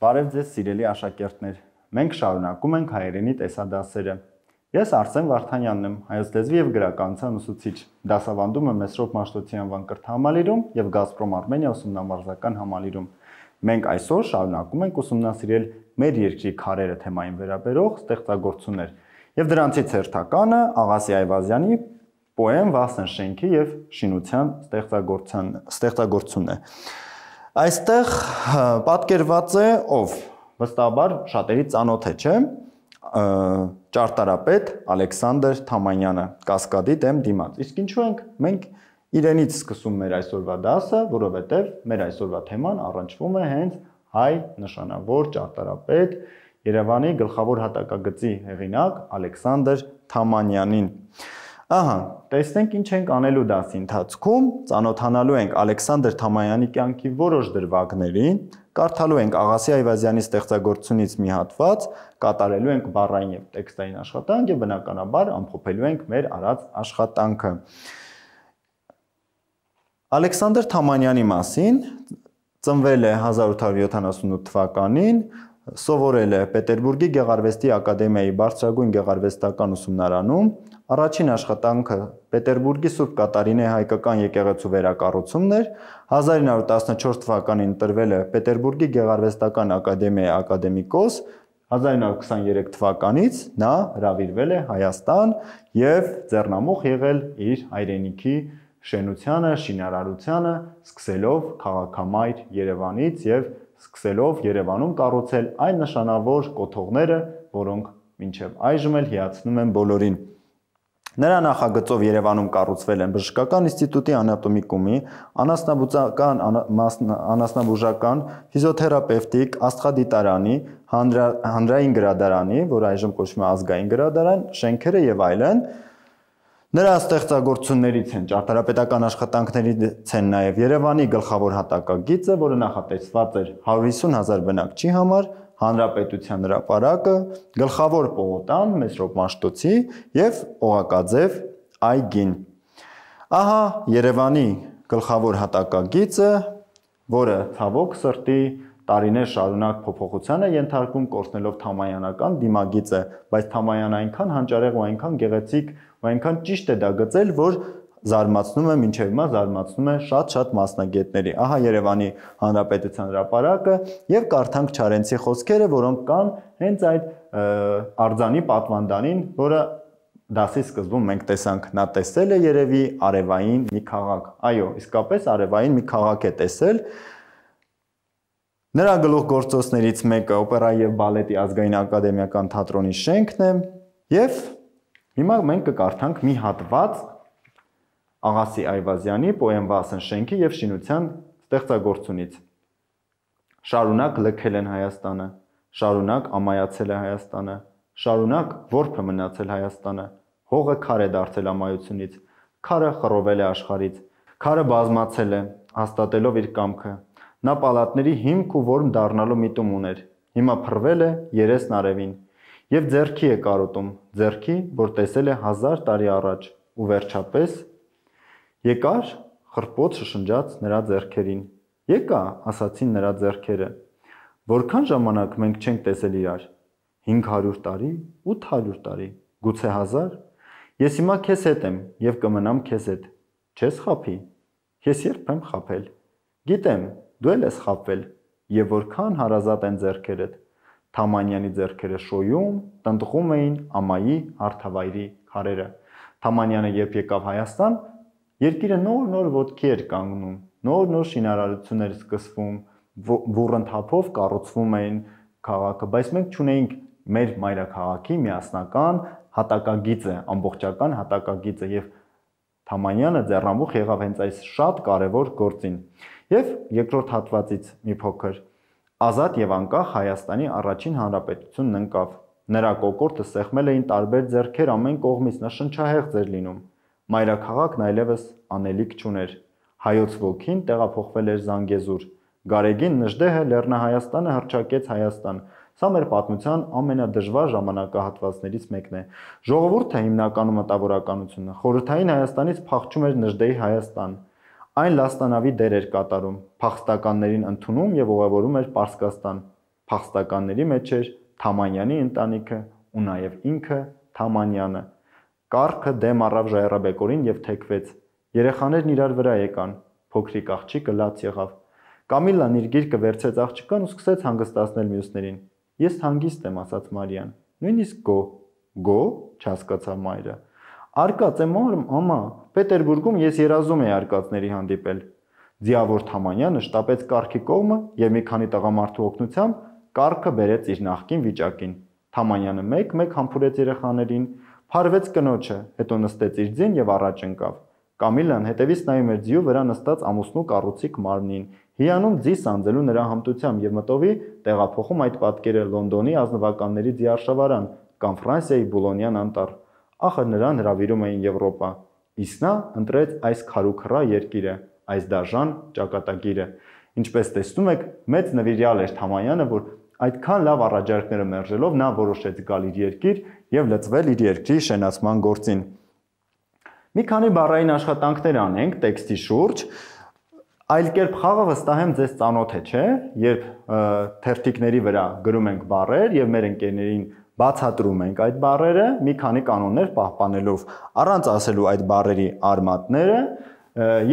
Բարև ձեզ սիրելի աշակերտներ, մենք շարունակում ենք հայերենի տեսադասերը։ Ես Արսեն Վարդանյանն եմ, հայոց լեզվի եւ գրականության ուսուցիչ, դասավանդում եմ Մեսրոպ Մաշտոցի անվան կրթահամալիրում եւ Գազպրոմ Արմենիա ուսումնամարզական համալիրում։ Մենք այսօր շարունակում ենք ուսումնասիրել մեր երկրի քարերը թեմային վերաբերող ստեղծագործություններ եւ դրանցից հերթականը Աղասի Այվազյանի պոեմ «Վասն շենքի եւ շինության» ստեղծագործությունն է։ Այստեղ պատկերված է ով, վստահաբար շատերի ծանոթ է, չէ՞, ճարտարապետ Ալեքսանդր Թամանյանը, Կասկադի դեմ դիմաց։ Իսկ ինչու ենք մենք իրենից սկսում մեր այսօրվա դասը, որովհետև մեր այսօրվա թեման առնչվում է հենց հայ նշանավոր ճարտարապետ Երևանի գլխավոր հատակագծի հեղինակ Ալեքսանդր Թամանյանին։ Ահա, տեսնենք ինչ ենք անելու դասի ընթացքում, ծանոթանալու ենք Ալեքսանդր Թամանյանի կյանքի որոշ դրվագներին, կարդալու ենք Աղասի Այվազյանի ստեղծագործությունից մի հատված, կատարելու ենք բառային եւ տեքստային աշխատանք եւ բնականաբար ամփոփելու ենք մեր արած աշխատանքը։ Ալեքսանդր Թամանյանի մասին ծնվել է 1878 թվականին, սովորել է Պետերբուրգի Գեղարվեստի ակադեմիայի բարձրագույն գեղարվեստական ուսումնարանում, առաջին աշխատանքը Պետերբուրգի Սուրբ Կատարինե հայկական եկեղեցու վերակառուցումն էր, 1914 թվականին ընտրվել է Պետերբուրգի Գեղարվեստական ակադեմիայի ակադեմիկոս, 1923 թվականից նա հրավիրվել է Հայաստան եւ ձեռնամուխ եղել իր հայրենիքի շենությանը, շինարարությանը, սկսելով քաղաքամայր Երևանից եւ սկսելով Երևանում կառուցել այն նշանավոր կոթողները, որոնք մինչև այժմ էլ հիացնում են բոլորին։ Նրա նախագծով Երևանում կառուցվել են Բժշկական ինստիտուտի անատոմիկումի, անասնաբուժական, ֆիզիոթերապևտիկ, աստղադիտարանի, հանրային գրադարանի, որ այժմ կոչվում է ազգային գրադարան, շենքերը եւ այլն։ Նրա ստեղծագործություններից են ճարտարապետական աշխատանքներից են նաև Երևանի գլխավոր հատակագիծը, որը նախատեսված էր 150,000 բնակչի համար, Հանրապետության հրապարակը, գլխավոր պողոտան Մեսրոպ Մաշտոցի եւ Օղակաձև այգին։ Ահա Երևանի գլխավոր հատակագիծը, որը ցավոք սրտի տարիներ շարունակ փոփոխության է ենթարկվում կորցնելով թամանյանական դիմագիծը, բայց Թամանյանը այնքան հանճարեղ ու այնքան գեղեցիկ ու այնքան ճիշտ է դա գծել, որ զարմացնում է, մինչև հիմա զարմացնում է շատ մասնագետների։ Ահա Երևանի Հանրապետության հրապարակը եւ կարդանք Չարենցի խոսքերը, որոնք կան հենց այդ արձանի պատվանդանին, որը դասի սկզբում մենք տեսանք, նա տեսել է երևի արևային մի քաղաք։ Այո, իսկապես արևային մի քաղաք է տեսել։ Նրա գլուխգործոցներից մեկը օպերայի եւ բալետի ազգային ակադեմիական թատրոնի շենքն է եւ հիմա մենք կկարդանք մի հատված Աղասի Այվազյանի պոեմ «Վասն շենքի եւ շինության» ստեղծագործությունից։ Շարունակ լքել են Հայաստանը, շարունակ ամայացել է Հայաստանը, շարունակ որբը մնացել Հայաստանը, հողը քար է դարձել ամայությունից, քարը խռովել է աշխարհից, քարը բազմացել է, հաստատելով իր կամքը։ Նա պալատների հիմք ու որմ դառնալու միտում ուներ, հիմա փռվել է երեսն արևին եւ ձեռքի է կարոտում, ձեռքի, որ տեսել է 1000 տարի առաջ, ու վերջապես եկար խռպոտ շշնջաց նրա ձեռքերին։ Եկա, ասացին նրա ձեռքերը։ Որքան ժամանակ մենք չենք տեսել իրար։ 500 տարի, 800 տարի, գուցե 1000։ Ես հիմա քեզ հետ եմ եւ կմնամ քեզ հետ։ Չես խափի։ Ես երբ եմ խափել։ Գիտեմ, դու էլ ես խափվել, եւ որքան հարազատ են ձեռքերդ։ Թամանյանի ձեռքերը շոյում, տնտղում էին ամայի հարթավայրի քարերը։ Թամանյանը երբ եկավ Հայաստան, երկիրը նոր ոտքի էր կանգնում, նոր շինարարություններ սկսվում, բուռն թափով կառուցվում էին քաղաքը, բայց մենք չունեինք մեր մայրաքաղաքի միասնական հատակագիծը, ամբողջական հատակագիծը եւ Թամանյանը ձեռնամուխ եղավ հենց այս շատ կարևոր գործին։ Եվ երկրորդ հատվածից մի փոքր ազատ եւ անկախ Հայաստանի առաջին հանրապետությունն ընկավ։ Նրա կոկորդը սեղմել էին տարբեր ձեռքեր ամեն կողմից, նա շնչահեղձ էր լինում։ Մայրաքաղաքն այլևս անելիք չուներ։ Հայոց ոգին տեղափոխվել էր Զանգեզուր։ Գարեգին Նժդեհը Լեռնահայաստանը հռչակեց Հայաստան։ Սա մեր պատմության ամենադժվար ժամանակահատվածներից մեկն է։ Ժողովուրդը հիմնականում մտավորականությունը խորհրդային Հայաստանից փախչում էր Նժդեհի Հայաստան։ Այն լաստանավի դեր էր կատարում, փախստականներին ընդունում եւ ուղևորում էր Պարսկաստան։ փախստականների մեջ էր Թամանյանի ընտանիքը ու նաև ինքը Թամանյանը։ Կառքը դեմ առավ Ժայռաբեկորին եւ թեքվեց։ Երեխաներն իրար վրա եկան, փոքրիկ աղջիկը լաց եղավ։ Կամիլան իր գիրկը վերցրեց աղջկան ու սկսեց հանգստացնել մյուսներին։ Ես հանգիստ եմ, ասաց Մարիան։ Նույնիսկ գո, չհասկացավ մայրը։ Արկած եմ, մամա, Պետերբուրգում ես երազում էի արկածների հանդիպել։ Ձիավոր Թամանյանը շտապեց կառքի կողմը եւ մի քանի տղամարդու օգնությամբ կառքը բերեց իր նախկին վիճակին։ Թամանյանը մեկ-մեկ համբուրեց երեխաներին, փարվեց կնոջը, հետո նստեց իր ձին եւ առաջ ընկավ։ Կամիլան հետևից նայում էր ձիու վրա նստած ամուսնու կառուցիկ մարմնին, հիանում ձի սանձելու նրա հմտությամբ եւ մտովի տեղափոխում այդ պատկերը Լոնդոնի ազնվականների ձիարշավարան կամ Ֆրանսիայի Բուլոնյան անտառ։ Ախր նրան հրավիրում էին Եվրոպա, իսկ նա ընտրեց այս քարուքռա երկիրը, այս դաժան ճակատագիրը։ Ինչպես տեսնում եք, մեծ նվիրյալ էր Թամանյանը, որ այդքան լավ առաջարկները մերժելով նա որոշեց գալ իր երկիր եւ լծվել իր երկրի շենացման գործին։ Մի քանի բառային աշխատանքներ անենք տեքստի շուրջ։ Այլ կերպ խաղը վստահ եմ ձեզ ծանոթ է, չէ՞, երբ թերթիկների վրա գրում ենք բառեր եւ մեր ընկերներին բացատրում ենք այդ բառերը, մի քանի կանոններ պահպանելով, առանց ասելու այդ բառերի արմատները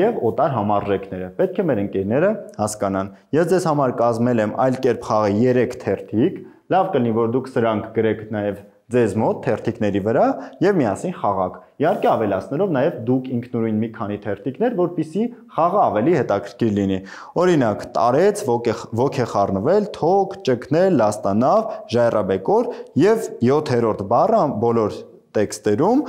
եւ օտար համարժեքները։ Պետք է մեր ընկերները հասկանան։ Ես ձեզ համար կազմել եմ այլ կերպ խաղի 3 թերթիկ, լավ կլինի որ դուք սրանք գրեք նաեւ ձեզ մոտ թերթիկների վրա եւ միասին խաղաք։ Իհարկե ավելացնելով նաեւ դուք ինքնուրույն մի քանի թերթիկներ, որպեսզի խաղը ավելի հետաքրքիր լինի։ Օրինակ՝ տարեց, ոգ է խառնվել, թոք, ճկնել, լաստանավ, ժայռաբեկոր եւ 7-րդ բառը բոլոր տեքստերում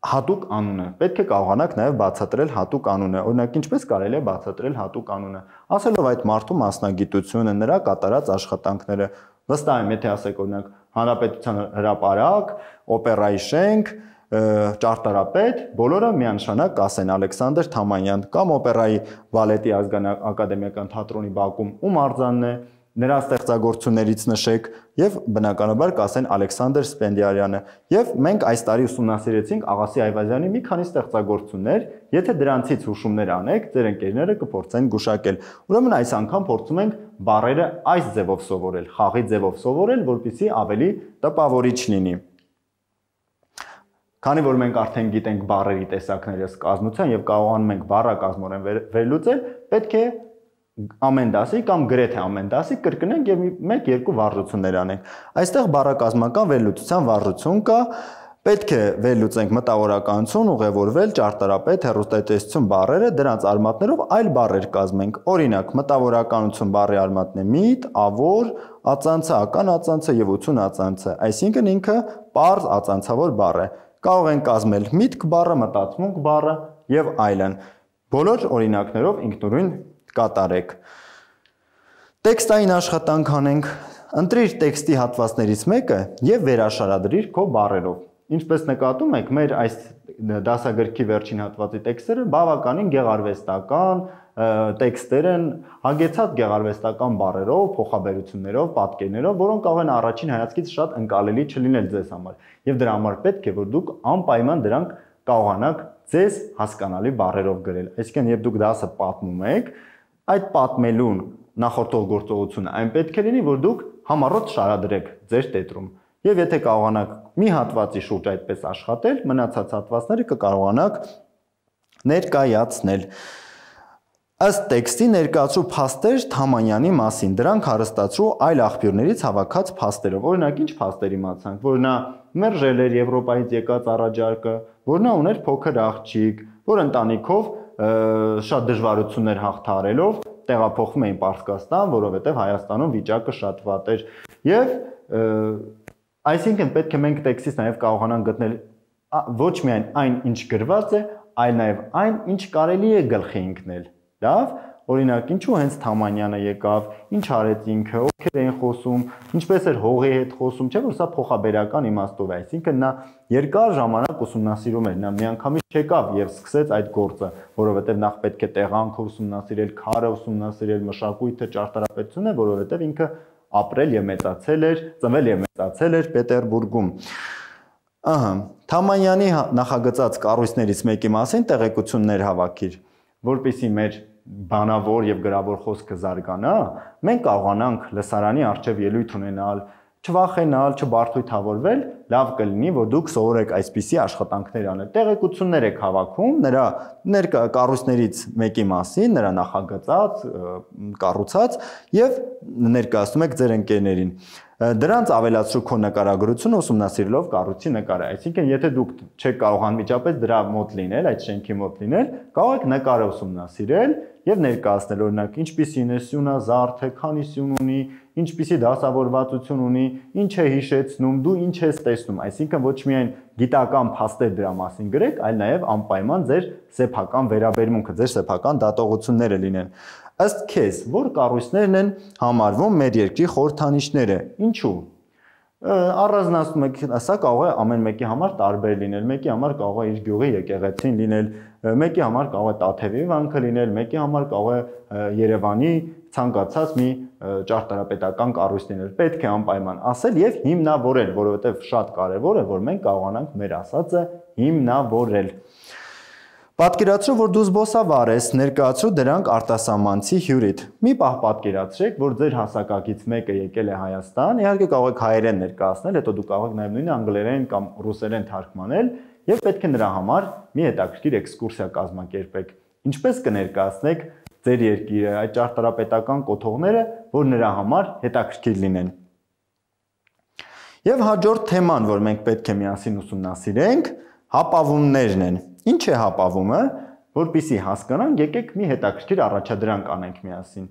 հատուկ անունը։ Պետք է կարողանաք նաև բացատրել հատուկ անունը։ Օրինակ, ինչպես կարելի է բացատրել հատուկ անունը։ Ասելով այդ մարդու մասնագիտությունը, նրա կատարած աշխատանքները։ Վստահ եմ, եթե ասեք օրինակ Հանրապետության հրապարակ, օպերայի շենք, ճարտարապետ, բոլորը միանշանակ կասեն Ալեքսանդր Թամանյան կամ օպերայի բալետի ազգային ակադեմիական թատրոնի բակում ում արձանն է, նրա ստեղծագործություններից նշեք եւ բնականաբար կասեն Ալեքսանդր Սպենդիարյանը։ Եվ մենք այս տարի ուսումնասիրեցինք Աղասի Այվազյանի մի քանի ստեղծագործություններ, եթե դրանցից հուշումներ անեք, ձեր ընկերները կփորձեն գուշակել։ Ուրեմն այս անգամ փորձում ենք բառերը այս ձևով սովորել, խաղի ձևով սովորել, որպեսզի ավելի տպավորիչ լինի։ Քանի որ մենք արդեն գիտենք բառերի տեսակները կազմության եւ կարողանում ենք բառակազմորեն վերլուծել, պետք է ամեն դասի կամ գրեթե ամեն դասի կրկնենք եւ 1-2 վարժություններ անենք։ Այստեղ բառակազմական վերլուծության վարժություն կա, պետք է վերլուծենք մտավորականություն, ուղևորվել, ճարտարապետ, հեռուստատեսություն բառերը, դրանց արմատներով այլ բառեր կազմենք։ Օրինակ, մտավորականություն բառի արմատն է միտ, ավոր, ածանցը, ական ածանցը եւ ություն ածանցը, այսինքն ինքը պարզ ածանցավոր բառ է։ Կարող ենք կազմել միտք բառը, մտածմունք բառը եւ այլն։ Բոլոր օրինակներով ինքնուրույն կատարեք։ Տեքստային աշխատանք անենք։ Ընտրիր տեքստի հատվածներից մեկը եւ վերաշարադրիր քո բառերով։ Ինչպես նկատում եք, մեր այս դասագրքի վերջին հատվածի տեքստերը բավականին գեղարվեստական տեքստեր են, հագեցած գեղարվեստական բառերով, փոխաբերություններով, պատկերներով, որոնք կարող են առաջին հայացքից շատ ընկալելի չլինել ձեզ համար։ Եվ դրա համար պետք է որ դուք անպայման դրանք կարողանաք ձեզ հասկանալի բառերով գրել։ Այսինքն, երբ դուք դասը պատմում եք, այդ պատմելուն նախորդող գործողությունը այն պետք է լինի, որ դուք համառոտ շարադրեք ձեր տետրում։ Եվ եթե կարողանաք մի հատվածի շուրջ այդպես աշխատել, մնացած հատվածները կկարողանաք ներկայացնել։ Ըստ տեքստի ներկայացրու փաստեր Թամանյանի մասին, դրանք հարստացրու այլ աղբյուրներից հավաքած փաստերով։ Օրինակ, ինչ փաստեր իմացանք, որ նա մերժել էր Եվրոպայից եկած առաջարկը, որ նա ուներ փոքր աղջիկ, որ ընտանիքով շատ դժվարություններ հաղթահարելով տեղափոխվում էին Պարսկաստան, որովհետև Հայաստանում վիճակը շատ վատ էր։ Եվ այսինքն պետք է մենք տեքստից նաև կարողանանք գտնել ոչ միայն այն, ինչ գրված է, այլ նաև այն, ինչ կարելի է գլխի ընկնել։ Լավ, օրինակ, ինչու հենց Թամանյանը եկավ, ինչ արեց ինքը, ովքեր էին խոսում, ինչպես էր հողի հետ խոսում, չէ՞ որ սա փոխաբերական իմաստով է, այսինքն նա երկար ժամանակ ուսումնասիրում էր, նա միանգամից չեկավ եւ սկսեց այդ գործը, որովհետեւ նախ պետք է տեղանքը ուսումնասիրել, քարը ուսումնասիրել, մշակույթը, ճարտարապետությունը, որովհետեւ ինքը ապրել եւ մեծացել էր, ծնվել եւ մեծացել էր Պետերբուրգում։ Ահա, Թամանյանի նախագծած կառույցներից մեկի մասին տեղեկություններ հավաքիր, որպեսզի մեր բանավոր եւ գրավոր խոսքը զարգանա, մենք կարողանանք լսարանի առջև ելույթ ունենալ, չվախենալ, չբարդույթավորվել, լավ կլինի, որ դուք սովորեք այսպիսի աշխատանքներ անել։ Տեղեկություններ եք հավաքում նրա կառույցներից մեկի մասին, նրա նախագծած, կառուցած եւ ներկայացնում եք ձեր ընկերներին։ Դրանց ավելացրու քո նկարագրությունը ուսումնասիրելով կառույցի նկարը։ Այսինքն, եթե դուք չեք կարող անմիջապես դրա մոտ լինել, այդ շենքի մոտ լինել, կարող եք նկարը ուսումնասիրել եւ ներկայացնել, օրինակ, ինչպիսին է սյունազարդ է, քանի սյուն ունի, ինչպիսի դասավորվածություն ունի, ինչ է հիշեցնում, դու ինչ ես տեսնում, այսինքն ոչ միայն գիտական փաստեր դրա մասին գրեք, այլ նաև անպայման ձեր սեփական վերաբերմունքը, ձեր սեփական դատողությունները լինեն։ Ըստ քեզ, որ կառույցներն են համարվում մեր երկրի խորհրդանիշները, ինչու։ Առանձնացնում եք, սա կարող է ամեն մեկի համար տարբեր լինել, մեկի համար կարող է իր գյուղի եկեղեցին լինել, մեկի համար կարող է Տաթևի վանքը լինել, մեկի համար կարող է Երևանի ցանկացած մի ճարտարապետական կառույց լինել։ Պետք է անպայման ասել եւ հիմնավորել, որովհետեւ շատ կարեւոր է, որ մենք կարողանանք մեր ասածը հիմնավորել։ Պատկերացրու, որ դու զբոսավար ես, ներկայացրու դրանք արտասահմանցի հյուրիդ։ Մի պահ պատկերացրեք, որ ձեր հասակակից մեկը եկել է Հայաստան, իհարկե կարող եք հայերեն ներկայացնել, հետո դուք կարող եք նաև նույն անգլերեն կամ ռուսերեն թարգմանել, եւ պետք է նրա համար մի հետաքրքիր էքսկուրսիա կազմակերպեք։ Ինչպես կներկայացնեք ձեր երկիրը, այդ ճարտարապետական կոթողները, որ նրա համար հետաքրքիր լինեն։ Եվ հաջորդ թեման, որ մենք պետք է միասին ուսումնասիրենք, հապավումներն են։ Ինչ է հապավումը, որպեսզի հասկանանք, եկեք մի հետաքրքիր առաջադրանք անենք միասին։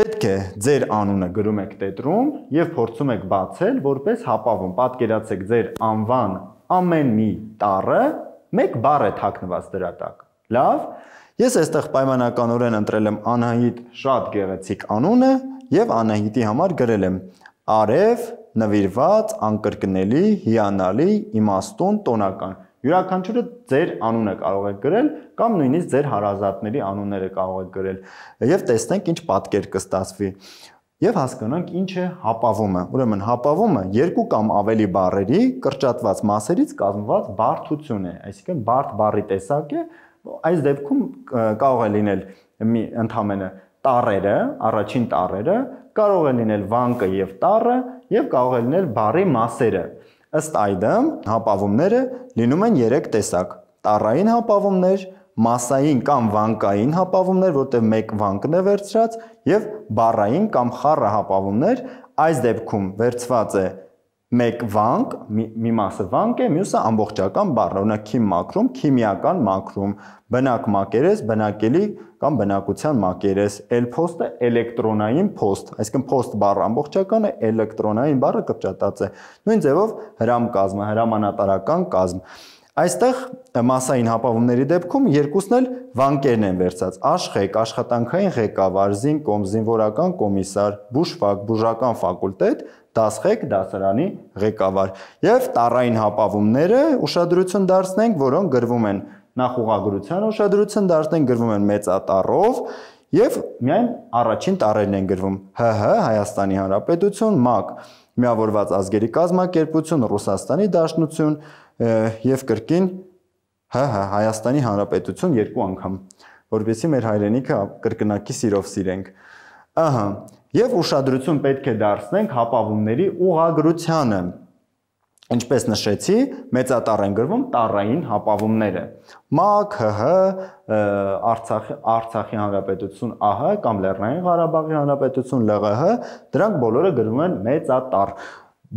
Պետք է ձեր անունը գրում եք տետրում եւ փորձում եք բացել որպես հապավում։ Պատկերացեք ձեր անվան ամեն մի տառը մեկ բառ է թաքնված դրա տակ։ Լավ։ Ես այստեղ պայմանականորեն ընտրել եմ Անահիտ շատ գեղեցիկ անունը եւ Անահիտի համար գրել եմ արև, նվիրված, անկրկնելի, հիանալի, իմաստուն, տոնական։ Յուրաքանչյուրը ձեր անունը կարող եք գրել կամ նույնիսկ ձեր հարազատների անունները կարող եք գրել եւ տեսնենք ինչ պատկեր կստացվի եւ հասկանանք ինչ է հապավումը։ Ուրեմն հապավումը երկու կամ ավելի բառերի կրճատված մասերից կազմված բարդություն է, այսինքն բարդ բառի տեսակ է, այս դեպքում կարող է լինել ընդհանրապես տառերը, առաջին տառերը, կարող է լինել վանկը եւ տառը եւ կարող է լինել բառի մասերը։ Ըստ այդմ հապավումները լինում են 3 տեսակ. տառային հապավումներ, մասային կամ վանկային հապավումներ, որտեղ մեկ վանկն է վերցրած, եւ բառային կամ խառը հապավումներ, այս դեպքում վերցված է մեկ վանկ, մի մասը վանկ է, մյուսը ամբողջական բառ, օրինակ քիմ մակրում, քիմիական մակրում, բնակ մակերես, բնակելի կամ բնակության մակերես, էլփոստը էլեկտրոնային փոստ, այսինքն փոստ բառը ամբողջական է, էլեկտրոնային բառը կրճատած է։ Նույն ձևով հրամ կազմը, հրամանատարական կազմ։ Այստեղ մասային հապավումների դեպքում երկուսն էլ վանկերն են վերցած՝ աշխեք, աշխատանքային ղեկավար, զինկոմ, զինվորական կոմիսար, բուժվակ, բուժական ֆակուլտետ, դասղեկ, դասարանի ղեկավար։ Եվ տառային հապավումները ուշադրություն դարձնենք, որոնք գրվում են նախուղագրության ուշադրություն դարձնենք, գրվում են մեծատառով եւ միայն առաջին տառերն են գրվում՝ ՀՀ Հայաստանի Հանրապետություն, ՄԱԿ Միավորված ազգերի կազմակերպություն, Ռուսաստանի Դաշնություն եւ կրկին ՀՀ Հայաստանի Հանրապետություն երկու անգամ, որովհետեւ մեր հայրենիքը կրկնակի սիրով սիրենք։ Ահա, եւ ուշադրություն պետք է դարձնենք հապավումների ուղղագրությանը։ Ինչպես նշեցի, մեծատառ են գրվում տառային հապավումները։ ՄԱԿ, ՀՀ, Արցախի Հանրապետություն ԱՀ կամ Լեռնային Ղարաբաղի Հանրապետություն ԼՂՀ, դրանք բոլորը գրվում են մեծատառ։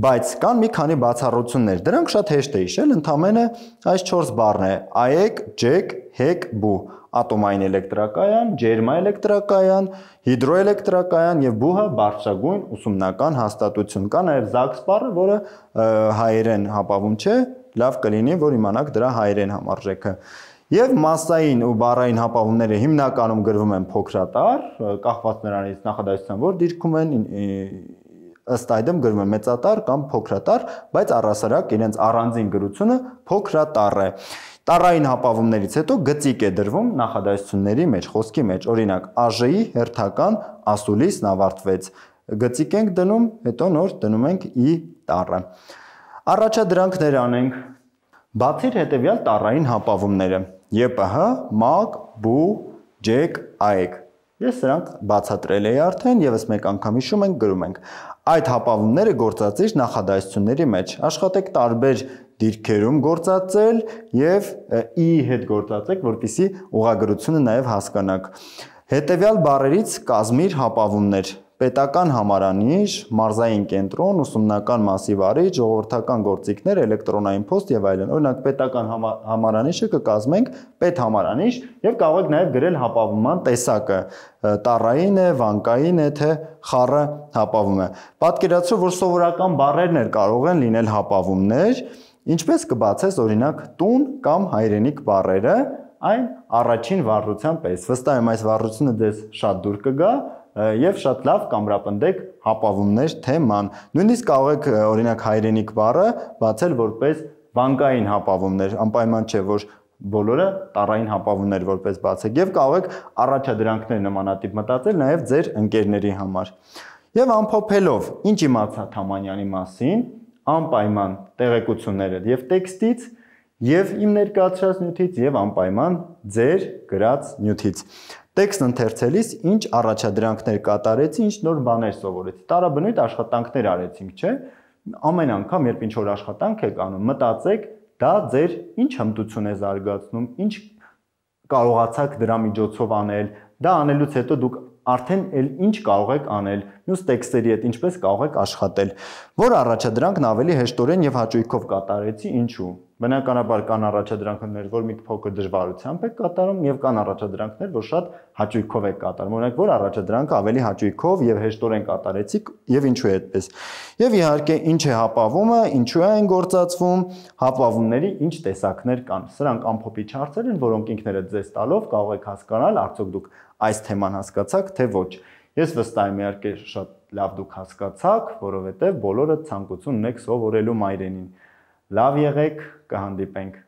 Բայց կան մի քանի բացառություններ, դրանք շատ հեշտ է հիշել, ընդհանրապես այս 4 բառն է՝ AEC, JEC, HEC, BU, ատոմային էլեկտրակայան, ջերմաէլեկտրակայան, հիդրոէլեկտրակայան եւ BU-ը բարձրագույն ուսումնական հաստատություն։ Կա նաեւ ZAGS բառը, որը հայերեն հապավում չէ, լավ կլինի, որ իմանաք դրա հայերեն համարժեքը։ Եվ մասային ու բառային հապավումները հիմնականում գրվում են փոքրատառ, կախված նրանից նախադասության որ դիրքում են, ըստ այդմ գրվում է մեծատառ կամ փոքրատառ, բայց առհասարակ իրենց առանձին գրությունը փոքրատառ է։ Տառային հապավումներից հետո գծիկ է դրվում նախադասությունների մեջ, խոսքի մեջ, օրինակ ԱԺ-ի հերթական ասուլիսն ավարտվեց։ Գծիկ ենք դնում, հետո նոր դնում ենք ի տառը։ Առաջադրանքներ անենք։ Բացիր հետևյալ տառային հապավումները՝ ԵՊՀ, ՄԱԿ, BU, ջեք, այեք։ Ես սրանք բացատրել էի արդեն, եւս մեկ անգամ հիշում ենք, գրում ենք։ Այդ հապավումները գործածիր նախադասությունների մեջ։ Աշխատեք տարբեր դիրքերում գործածել եւ ի հետ գործածեք, որպեսզի ուղղագրությունը նաեւ հասկանաք։ Հետևյալ բառերից կազմիր հապավումներ. պետական համարանիշ, մարզային կենտրոն, ուսումնական մասի վարիչ, ժողովրդական գործիքներ, էլեկտրոնային փոստ եւ այլն։ Օրինակ պետական համարանիշը կկազմենք պետհամարանիշ եւ կարող եք նաեւ գրել հապավումման տեսակը՝ տառային է, վանկային է, թե խառը հապավում է։ Պատկերացրու, որ սովորական բառերն էլ կարող են լինել հապավումներ, ինչպես կբացես օրինակ տուն կամ հայրենիք բառերը այն առաջին վառության պես։ Վստահ եմ այս վառությունը ձեզ շատ դուր կգա եւ շատ լավ կամրապնդեք հապավումներ թեման։ Նույնիսկ կարող եք օրինակ հայրենիք բառը բացել որպես վանկային հապավումներ, անպայման չէ որ բոլորը տառային հապավումներ որպես բացեք եւ կարող եք առաջադրանքներ նմանատիպ մտածել նաեւ ձեր ընկերների համար։ Եվ ամփոփելով, ինչ իմացա Թամանյանի մասին, անպայման տեղեկությունները եւ տեքստից եւ իմ ներկայացրած նյութից եւ անպայման ձեր գրած նյութից։ Տեքստը ընթերցելիս ինչ առաջադրանքներ կատարեցի, ինչ նոր բաներ սովորեցի։ Տարաբնույթ աշխատանքներ արեցինք, չէ՞։ Ամեն անգամ, երբ ինչ-որ աշխատանք եք անում, մտածեք, դա ձեր ինչ հմտություն է զարգացնում, ինչ կարողացաք դրա միջոցով անել, դա անելուց հետո դուք արդեն ինչ կարող եք անել, մյուս տեքստերի հետ ինչպես կարող եք աշխատել։ Որ առաջադրանքն ավելի հեշտորեն եւ հաճույքով կատարեցի, ինչու։ Բնականաբար կան առաջադրանքներ, որ մի փոքր դժվարությամբ եք կատարում եւ կան առաջադրանքներ, որ շատ հաճույքով եք կատարում։ Օրինակ, որ առաջադրանքը ավելի հաճույքով եւ հեշտորեն կատարեցիք եւ ինչու է այդպես։ Եվ իհարկե, ինչ է հապավումը, ինչու է այն գործածվում, հապավումների ինչ տեսակներ կան։ Սրանք ամփոփիչ հարցեր են, որոնք ինքներդ ձեզ տալով կարող եք հասկանալ, արդյոք դուք այս թեման հասկացաք, թե ոչ։ Ես վստահ եմ, իհարկե, շատ լավ դուք հասկացաք, որովհետեւ բոլորը ցանկություն ունեք սովորելու մայրենին։ Լավ եղեք, կհանդիպենք